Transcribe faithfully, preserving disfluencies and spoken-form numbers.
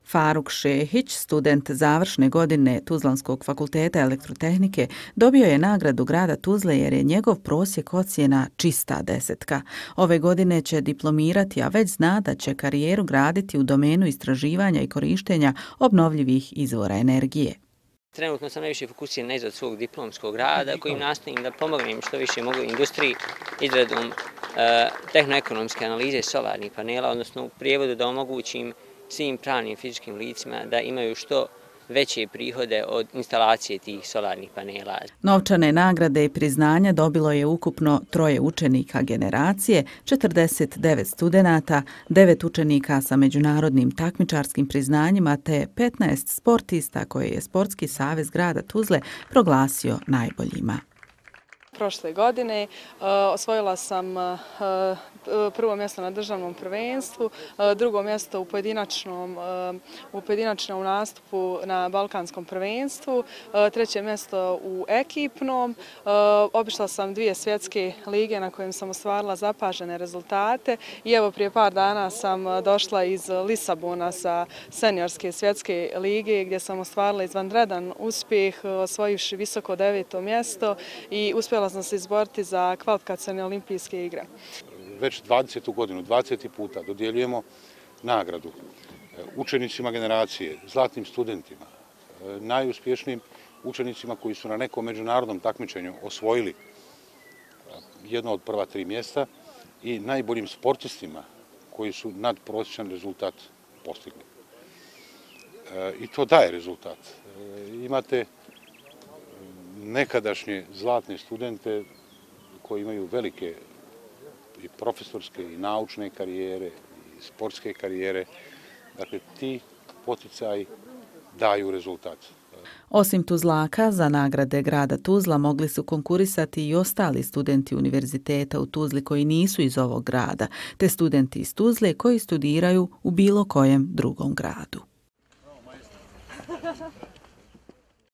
Faruk Šehić, student završne godine Tuzlanskog fakulteta elektrotehnike, dobio je nagradu grada Tuzle jer je njegov prosjek ocjena čista desetka. Ove godine će diplomirati, a već zna da će karijeru graditi u domenu istraživanja i korištenja obnovljivih izvora energije. Trenutno sam najviše fokusiran na izradu svog diplomskog rada, kojim nastojim da pomognem što više mogu industriji izradom e, tehnoekonomske analize solarnih panela, odnosno u prijevodu da omogućim svim pravnim i fizičkim licima da imaju što veće prihode od instalacije tih solarnih panela. Novčane nagrade i priznanja dobilo je ukupno troje učenika generacije, četrdeset devet studenata, devet učenika sa međunarodnim takmičarskim priznanjima te petnaest sportista koje je Sportski savez grada Tuzle proglasio najboljima. Prošle godine osvojila sam prvo mjesto na državnom prvenstvu, drugo mjesto u pojedinačnom, u pojedinačnom nastupu na balkanskom prvenstvu, treće mjesto u ekipnom. Obišla sam dvije svjetske lige na kojim sam ostvarila zapažene rezultate i evo prije par dana sam došla iz Lisabona sa seniorske svjetske lige gdje sam ostvarila izvanredan uspjeh osvojivši visoko deveto mjesto i uspjela sam se izboriti za kvalifikacione olimpijske igre. Već dvadesetu godinu, dvadeseti puta dodjeljujemo nagradu učenicima generacije, zlatnim studentima, najuspješnijim učenicima koji su na nekom međunarodnom takmičenju osvojili jedno od prva tri mjesta i najboljim sportistima koji su nadprosječan rezultat postigli. I to daje rezultat. Imate nekadašnje zlatne studente koji imaju velike i profesorske i naučne karijere i sportske karijere. Dakle, ti poticaji daju rezultat. Osim Tuzlaka, za nagrade grada Tuzla mogli su konkurisati i ostali studenti univerziteta u Tuzli koji nisu iz ovog grada, te studenti iz Tuzle koji studiraju u bilo kojem drugom gradu.